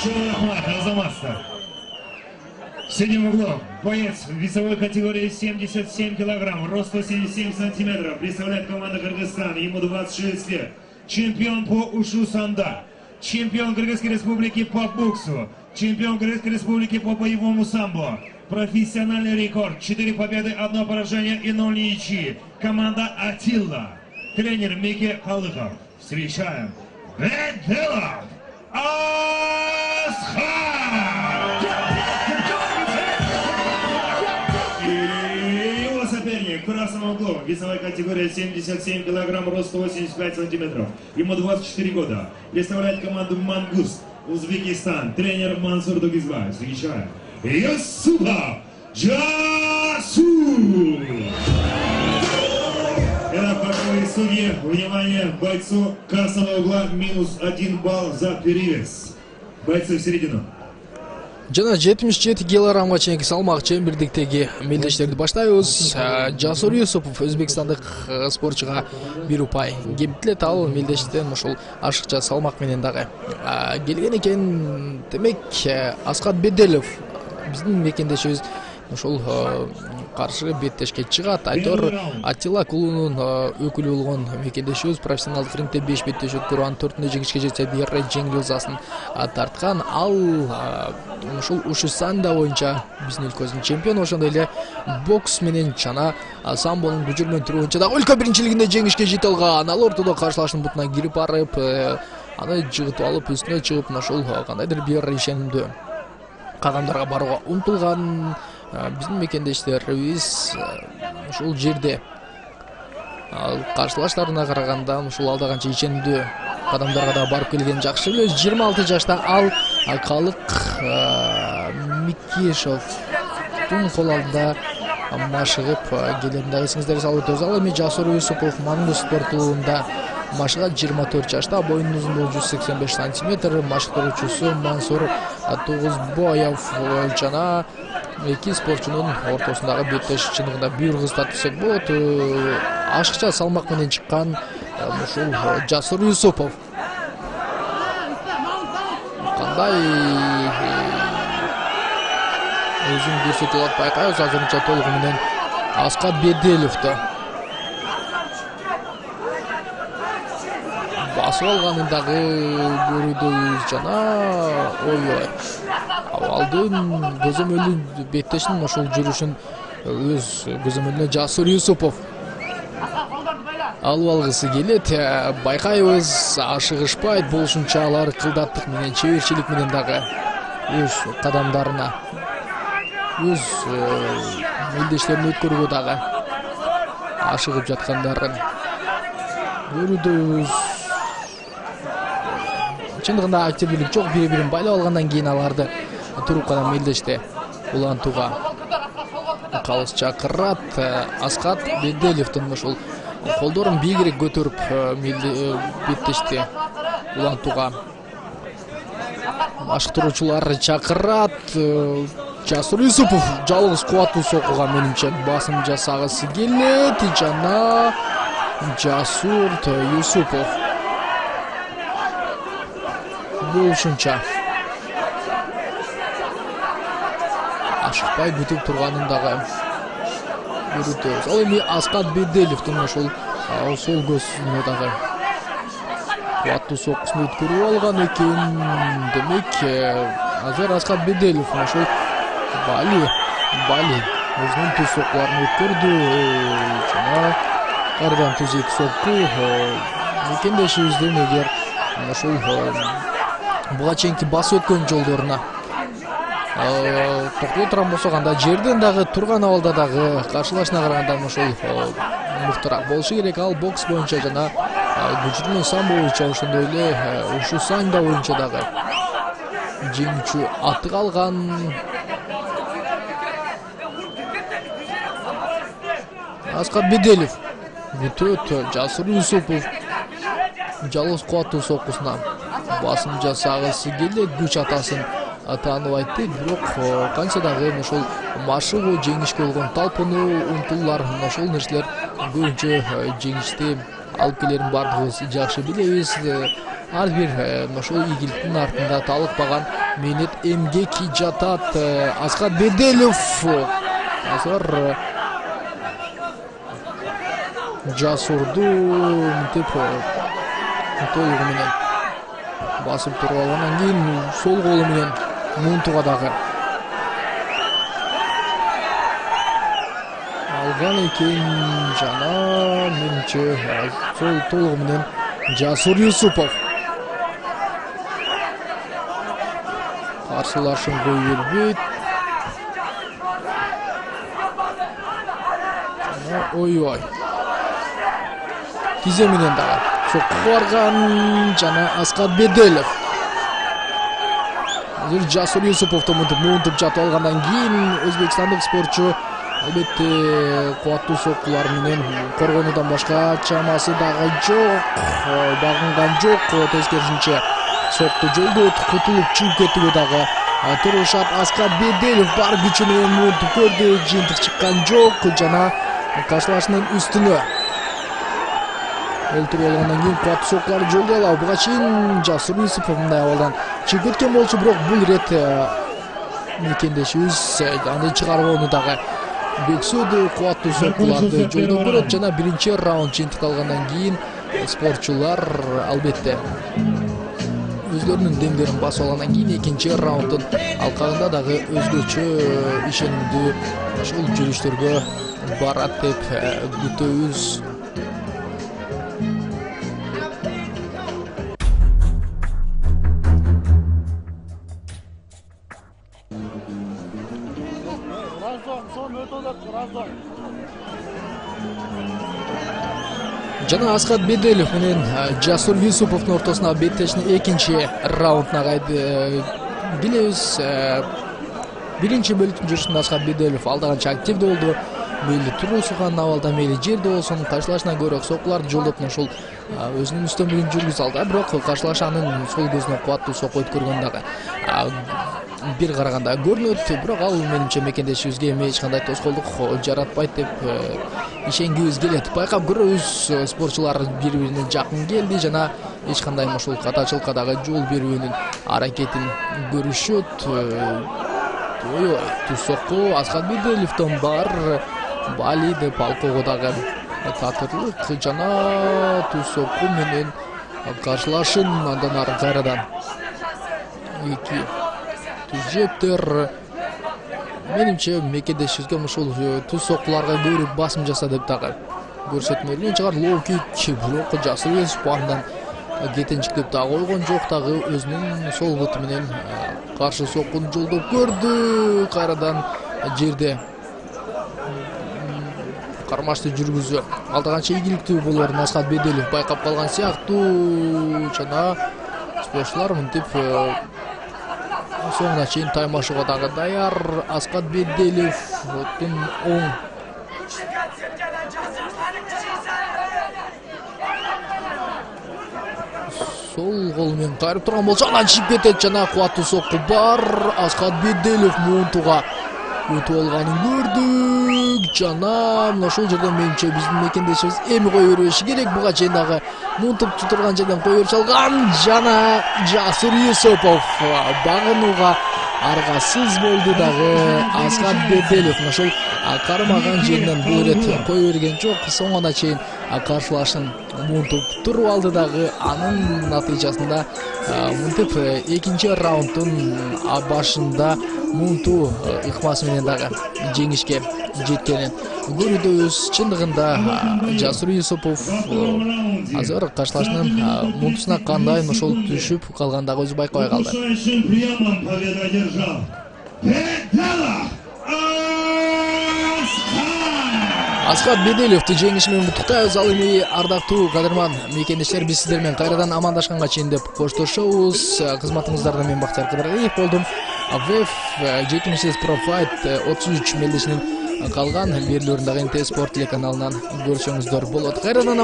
В синем углу боец весовой категории 77 килограмм, рост 177 сантиметров, представляет команда Кыргызстана, ему 26 лет. Чемпион по ушу санда, чемпион Кыргызской республики по боксу, чемпион Кыргызской республики по боевому самбо. Профессиональный рекорд, 4 победы, 1 поражение и 0 ничьи. Команда Атилла. Тренер Мике Калыков. Встречаем Беделов Асхат! И его соперник в красном углу. Весовая категория 77 килограмм, рост 185 сантиметров. Ему 24 года. Представляет команду Мангуст, Узбекистан. Тренер Мансур Дугизбай. Встречаем Юсупов Джасур! Это боковые судьи. Внимание, бойцу красного угла -1 балл за перевес. Бойцы в середину. Жана 77 килограммга чейинки салмак чембирдиктеги мелдештерди баштайбыз. Жасур Юсупов өзбекстандык спортчуга 1 упай кемтилет. Ал мелдештен ушул ашыкча салмак менен дагы келген экен. Демек Асхат Беделов биздин мекендешибиз ушул каршы беттешке чыгат. Айтор Атилла клубунун өкүлү болгон мекендешибиз профессионалдык рингде 5 беттеш өткөрүп, анын 4-тө жеңишке жетсе, бери жеңил жазасын тарткан. Ал ушул ушу санда боюнча биздин өлкөбүздүн чемпиону, ошондой эле бокс менен жана самбонун күчүрмөн түрү боюнча да өлкө биринчилигинде жеңишке жете алган. Ал ортодо каршылаштын бутуна кирип барып, аны жыгытып алып, үстүнө чыгып, ушул кандайдыр бир ишенимдүү кадамдарга барууга умтулган. Биздин мекендештерибиз ушул жерде каршылаштарына караганда ушул алда канча ишенимдүү кадамдарга да барып келген жакшы билебиз. 26 жашта ал Калык Микешовдун кол алдында машыгып келерин дагы эсиңиздерге салып өтөбүз. Ал эми Жасур Юсупов Мангуст спорт клубунда машыгат. 24 жашта, боюнун узундугу 185 сантиметр, машыктыруучусу Мансур Тугузбоев жана эки спортчунун ортосундагы беттеш чындыгында бир кыз десек болот. Ашыкча салмак менен чыккан ушул Жасур Юсупов кандай өзүн көрсөтүп алат байкайбыз. Азырынча толугу менен Асхат Беделовду басып алганын дагы көрүүдөбүз жана ой абалдын көзөмөлүн беттешин ошол жүрүшүн өз көзөмөлүнө Жасур Юсупов алып алгысы келет. Байкайбыз, ашыгышпайт, болушунча алар кылдаттык менен, чеберчилик менен дагы өз кадамдарына, өз мелдештерин өткөрүүгө дагы ашыгып жаткандарын көрүүдөбүз. Чындыгында активдүүлүк жок, бири-бирин байлап алгандан кийин аларды трубкадан мелдеште улантууга калыс чакырат. Асхат Беделовдун ушул колдорун бийигирээк көтөрүп беттешти улантууга машыктыруучулар чакырат. Жасур Юсупов жалгыз кубаттуу сокууга менимче басым жасагысы келет жана Жасур Юсупов болушунча ашыкпай бүтүп турганын дагы көрүтөбүз. Ал эми Асхат Беделовдун ошол сол көзүнө дагы кубаттуу соккусун өткөрүп алган экен. Демек азыр Асхат Беделов ошол Бали өзүнүн түз соккуларын өткөрдү жана кайрадан түз эки сокку мекендешибиздин эгер ошол буга чейинки басып өткөн жолдоруна токтоло турган болсок, анда жерден дагы турган абалда дагы каршылашына караганда ошол мыктыраак болушу керек. Ал бокс боюнча жана күчүрмө самбо боюнча, ошондой эле ушу санда боюнча дагы жеңүүчү атык алган. Асхат Беделов бүтөт. Жасур Юсупов жалгыз кубаттуу соккусуна басым жасагысы келет, күч атасын тааныбайт, бирок канча дагы ошол машыгуу, жеңишке болгон талпынуу, умтулуулар, ошол нерселер көбүнчө жеңишти алып келерин баардыгыбыз жакшы билебиз. Ар бир ошол ийгиликтин артында талыкпаган Менет эмгеки жатат. Аскат Беделов азыр Жасурду мынтип толугу менен басып туруп алгандан кийин сол колу менен Мунтуга дагы алган экен жана менимче сол толугу менен Жасур Юсупов каршылашын кое бербейт. Ой-ой. Тизе менен дагы сокку барган жана Аскат Беделов. Азыр Жасур Юсуповду мынтип жатып алгандан кийин өзбекстандык спортчу албетте кубаттуу соккулар менен коргонуудан башка чамасы дагы жок. Багынган жок. Тескерисинче сокку жолдоп кутулуп чыгып кетүүгө дагы турушат. Аскат Беделов бар күчү менен мынтип көрдү, жыйынтык чыккан жок жана каршылашынын үстүнө өлтүрүп алгандан кийин кубаттуу соккуларды жолдой алабы. Буга чейин Жасур Юсупов мындай абалдан чыгып кеткен болчу, бирок бул ирет мекендешибиз аны чыгарууну дагы бексөөдө. Кубаттуу соккуларды жолдоп көрөт жана биринчи раунд жыйынтыкталгандан кийин спортчулар албетте өзлөрүнүн демдерин басып алгандан кийин экинчи раунддун алкагында дагы өзгөчө ишенимдүү ушул жүрүштөргө барат деп күтөбүз. Жана Аскат Беделов менен Жасур Юсуповдун ортосуна беттешин экинчи раундуна билебиз. Биринчи бөлүктүн жүрүшүндө Аскат Беделов алда канча активдүү болду. Мейли туруусуган абалда, мейли жерде болсун, каршылашынан көрөк соккуларды жолдоп ушул өзүнүн үстөмдүгүн жүргүзө алды. Бирок каршылаш анын сол көзүнө кубаттуу сокку өткөргөн дагы бир караганда көрүнөт. Бирок ал менимче мекендешибизге эч кандай тоскоолдук жаратпайт деп ишенгибиз келет. Байкап көрөбүз, спортчулар бири-бирине жакын келди жана эч кандай ушул катачылыкка дагы жол берүүнүн аракетин көрүшөт. Ой, ту сокку Аскат Беделовдон бар. Бали деп алкого дагы татырлык жана ту сокку менен каршылашын андан ары кайрадан эки түзөтөр. Менимче мекендешибизге ушул ту соккуларга көбүрөөк басым жаса деп дагы көрсөтмөлүү чыгар. Лоукик бирок Жасур Юсупов андан кетенчиктеп дагы койгон жок, дагы өзүнүн сол буту менен каршы соккуну жолдоп көрдү. Кайрадан жерде кармашты жүргүзүү алда канча ийгиликтүү болоорун Аскат Беделов байкап калган сыяктуу жана спортчулар мынтип соңуна чейин таймашууга дагы даяр. Аскат Беделовдун оң сол колу менен кайрып турган болчу, анан чыгып кетет жана кубаттуу сокку бар. Аскат Беделов Мунтуга өтүп алганын көрдүк жана мына ошол жерден менимче биздин мекендешибиз эми кое бербеши керек. Буга чейин дагы Мунтуп турган жерден кое берип салган жана Жасур Юсупов багынууга аргасыз болду дагы. Аскат Беделов ошол кармаган жеринен бул ирет кое берген жок. Соңуна чейин каршылашын Мунтуп туруп алды дагы. Анын натыйжасында мынтип экинчи раунддун башында Мунту ыкмасы менен дагы жеңишке жеткенин көрүүбүз. Чындыгында Жасур Юсупов азыр каршылашынын Мунтусуна кандай ошол түшүп калгандыгы өзү байкабай калды. Аскат Беделовду жеңиши менен куттуктайбыз. Ал эми ардактуу кадырман мекендештер, биз сиздер менен кайрадан амандашканга чейин деп коштошобуз. Кызматыңыздарда мен Бактияр Кыдыралиев болдум. ВФ 70 Pro Fight 33 мелдешинин калган берүүлөрүн дагы НТ Спорт телеканалынан көрсөңүздөр болот. Кайрадан